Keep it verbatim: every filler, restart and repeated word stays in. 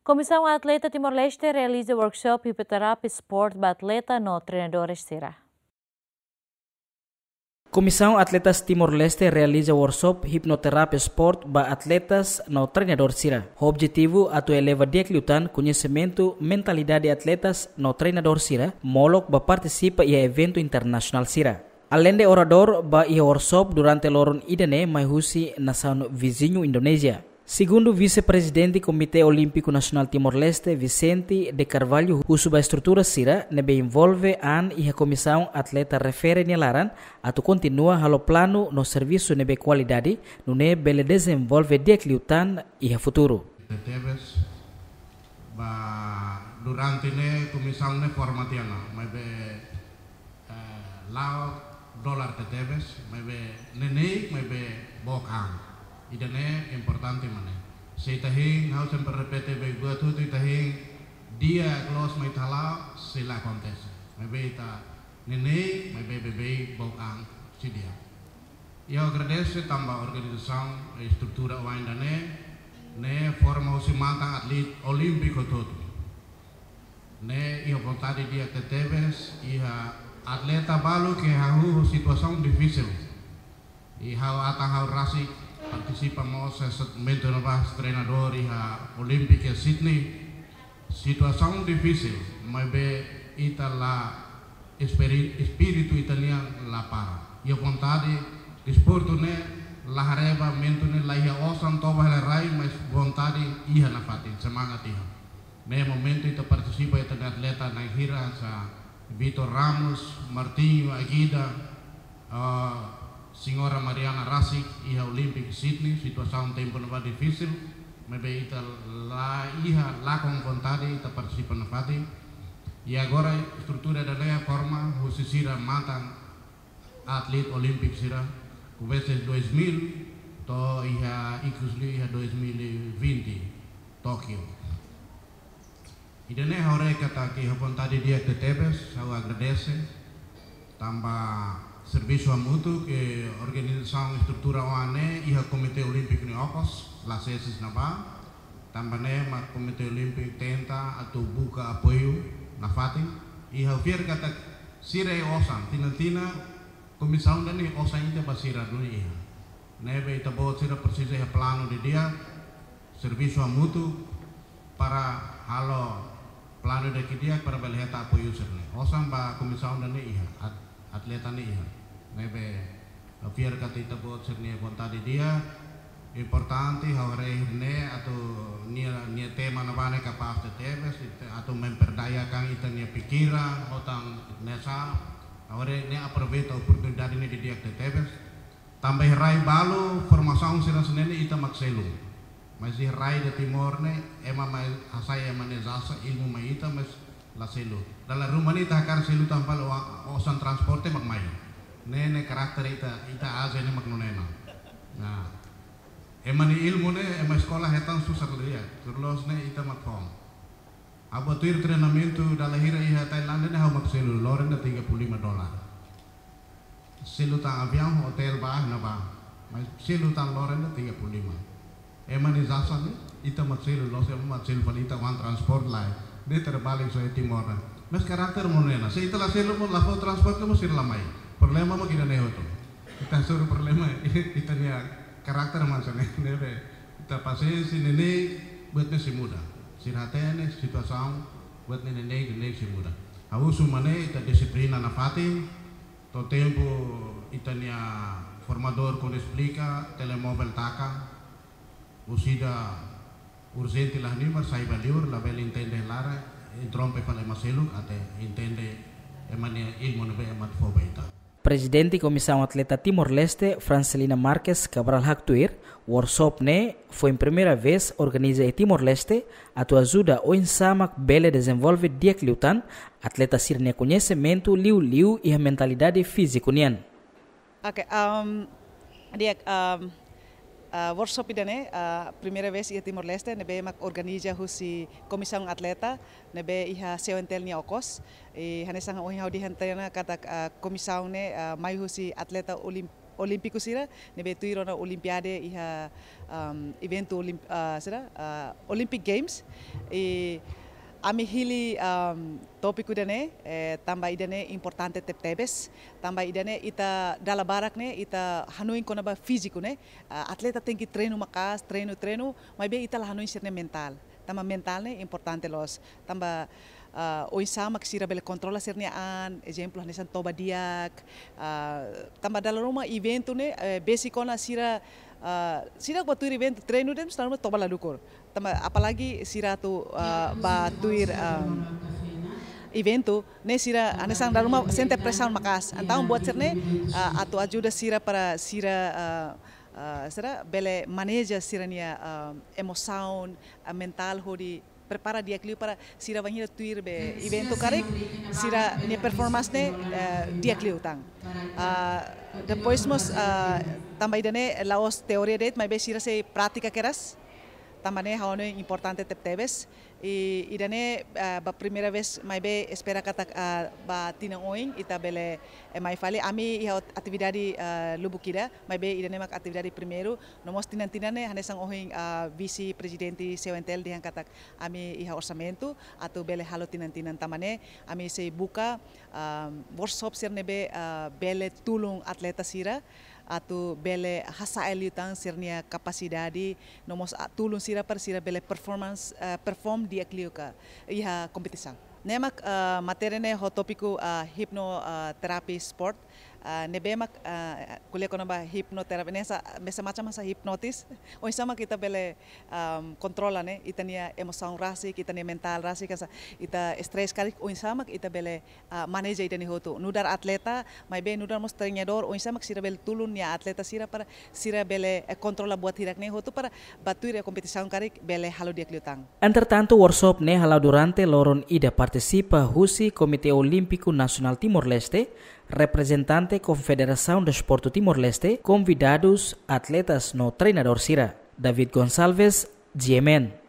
Komisaun Atleta Timor-Leste realiza workshop hipnoterapia sport ba atleta no treinadores sira. Komisaun Atletas Timor-Leste realiza workshop hipnoterapia sport ba atletas no treinadór sira. Objetivu atu eleva di'ak liután koñesimentu, mentalidade atletas no treinadór sira molok ba partisipa iha eventu internasionál sira. Aleinde oradór ba iha workshop durante loron ida-ne'e mai husi nasaun viziñu Indonézia. Segundu Vise-Prezidente Komité Olímpiku Nasionál Timor-Leste, Vicente de Carvalho, husu ba estrutura sira ne'ebé envolve an iha komisaun atleta refere nia laran atu kontinua halo planu no servisu ne'ebé kualidade, nune'e bele dezenvolve di'ak liután iha futuru. Tebes, ba durante ne'e komisaun ne'e forma tiha ona, maibé, eh, la'o dolar tebetebes, maibé neineik, maibé book an. Ida-ne'e importante mak ne'e. Se ita hein, ha'u sempre repete, be buat hotu ita hein, di'ak loos mak ita hala'o, sei la akontese. Maibé ita neineik, maibé beibeik book an, sei di'ak. I ha'u agradese tanba organizasaun, estrutura oan ida-ne'e, ne'e forma husi matan atleta olímpiku hotu-hotu. Ne'e iha vontade di'ak tebetebes, iha atleta balu ke hahú situasaun difisil. I ha'u atan ha'u rasik partisipa mós iha momentu ne'ebá treinadór iha Olímpika Sydney. Situasaun difisil, maibé ita la esperi-, espíritu ita-nian la para. Iha vontade, desportu ne'e la haree ba momentu ne'e la iha osan toba hela rai, mas vontade iha nafatin, semangat iha. Ne'e momentu ita partisipa ita-nia atleta na'in hira hanesan Vitor Ramos, Martinho, Agida, ah, Señora Mariana rasik iha Olímpiku Sydney, situasaun tempu ne'ebá difisil, maibé ita la iha lakon vontade ita partisipa nafatin. I agora estrutura ida-ne'e forma husi sira matan atleta olímpiku sira, komesa dois mil, to'o iha ikus liu iha dois mil e vinte, Tóquio. Ida-ne'e ha'u haree katak iha vontade di'ak tebetebes, ha'u agradese. Tanba servisu hamutuk, eh, organizasaun estrutura oan ne'e iha Komité Olímpiku nia okos, la sei iha ne'ebá. Tanba ne'e mak Komité Olímpiku tenta atu buka apoiu nafatin. I ha'u fiar katak sira iha osan, tinan-tinan, komisaun ida-ne'e osan ida ba sira duni iha. Ne'ebé ita-boot sira presiza iha planu didi'ak, servisu hamutuk para halo planu ida ke di'ak para bele hetan apoiu sira-ne'e. Osan ba komisaun ida-ne'e iha, at-, atleta ne'e iha. Ne'ebé ha'u fiar katak ita-boot sira-nia vontade di'ak, importante ha'u haree ne'e atu nia, nia tema ne'ebá ne'e kapás tebes, ita atu memperdayakan ita-nia pikiran, hotu hanesan, ha'u haree ne'e aproveita oportunidade ne'e didi'ak tebes. Tanba iha rai balu formasaun sira hanesan ne'e ita mak selu. Mas iha rai ida Timor ne'e, ema mai hasai ema nia jasa, ilmu mai ita, mas la selu. Dala ruma ne'e ita hakarak selu tan fali o-, osan transporte mak mai. Ne'e, ne'e karakter ita, ita Ázia ne'e mak nune'e ona. Nah, ema nia ilmu ne'e, ema eskola hetan susar lia. Tuir loloos ne'e ita mak foun. Ha'u bá tuir treinamentu dala hira iha Tailándia ne'e ha'u mak selu, loron ida tiga puluh lima dolar. Selu tan aviaun, hotel bá, ne'ebá. Mas selu tan loron ida tiga puluh lima. Ema nia jasa ne'e, ita mak selu, loloos ema mak selu fali, ita oan transport lai. Ne'e terbalik soal Timor ne'e. Mas karakter mak nune'e ona. Se ita la selu mós, la fó transport mós sira la mai. Problema mak ida-ne'e hotu. Ita hasoru problema, ita-nia karakter mak hanesan ne'e, ne'ebé ita pasiénsia, neineik, buat ne'e sei muda. Sira hatene situasaun, buat ne'e neineik, neineik sei muda. Ha'u husu mak ne'e, ita dixiplina nafatin, to'o tempu ita-nia formadór kuandu esplika, telemóvel taka, orsida urjente la halimar, sai ba liur, labele entende laran, interrompe fali ema seluk, até entende ema nia ilmu ne'ebé ema atu fó ba ita. Prezidente Komisaun Atleta Timor-Leste, Francelina Marques Cabral haktuir, workshop ne'e foin primeira vez organiza iha Timor-Leste, atu ajuda oinsá mak bele dezenvolve di'ak liután atleta sira-nia koñesimentu liuliu iha mentalidade fíziku nian. Oke, um, di'ak, um, uh, workshop ida-ne'e, uh, primeira vez iha Timor-Leste, ne'ebé mak organiza husi Komisaun Atleta, ne'ebé iha CONTL nia okos. I hanesan ohin ha'u dehan tiha ona katak, uh, komisaun ne'e, uh, mai husi atleta olim-, Olímpiku sira ne'ebé tuir ona Olimpiade iha, um, eventu olimp, uh, sira, uh, Olympic Games. I ami hili, um, tópiku ida-ne'e, eh, tanba ida-ne'e importante tebetebes, tanba ida-ne'e ita dala barak ne'e ita hanoin kona-ba fíziku ne'e, uh, atleta tenke treinu maka'as, treinu, treinu, maibé ita la hanoin sira-nia mentál. Tanba mentál ne'e importante loos. Tanba, ah, oinsá mak sira bele kontrola sira-nia an, ezemplu, hanesan toba di'ak, ah, tanba dala ruma eventu ne'e, eh, besik ona sira, ah, sira bá tuir eventu, treinu de'it, sira toba la dukur. Tanba apalagi sira atu, ah, bá tuir, ah, eventu ne'e sira hanesan dala ruma sente presaun maka'as. Entaun buat sira-ne'e, ah, atu ajuda sira para sira, ah, ah, sira bele maneja sira-nia, ah, emosaun, ah, mentál hodi prepara di'ak liu para sira bainhira tuir be eventu karik, sira-nia performance ne'e, eh, di'ak liután. Ah, depois mós, ah, tanba ida-ne'e la'ós teoria de'it, maibé sira sei prátika kedas. Tanba ne'e ha'u hanoin importante tebetebes. I ida-ne'e, ah, ba primeira vez, maibé espera katak, ah, ba tinan oin ita bele, eh, mai fali. Ami iha ot-, atividade, ah, lubuk ida, maibé ida-ne'e mak atividade primeiru. No mós tinan-tinan ne'e hanesan ohin, ah, vise-prezidente C O N T L dehan katak ami iha orsamentu atu bele halo tinan-tinan, tanba ne'e ami sei buka, ah, workshop sira ne'ebé, ah, bele tulun atleta sira atu bele hasa'e liután sira-nia kapasidade, no mós, ah, tulun sira para sira bele performance, ah, perform di'ak liu ka iha kompetisaun. Ne'e mak, ah, matéria ne'e ho tópiku, ah, hipno, ah, terapi sport. Ah, ne'ebé mak, ah, ko'alia kona-ba hipnoterapia ne'e hanesan, hanesan macam hanesan hipnotis. Oinsá mak ita bele, um, kontrola ne'e ita-nia emosaun rasik, ita-nia mentál rasik, hanesan ita stress karik, oinsá mak ita bele, ah, maneja ida-ne'e hotu. Nu'udar atleta, maibé nu'udar mós treinadór, oinsá mak sira bele tulun nia atleta sira para sira bele, eh, kontrola buat hirak ne'e hotu para bá tuir kompetisaun karik bele halo di'ak liután. Entretantu, workshop ne'e hala'o durante loron ida, partisipa husi Komité Olímpiku Nasionál Timor-Leste, reprezentante Konfederasaun Desportu Timor-Leste, konvidadus, atletas no treinadór sira. David Gonçalves, G M N.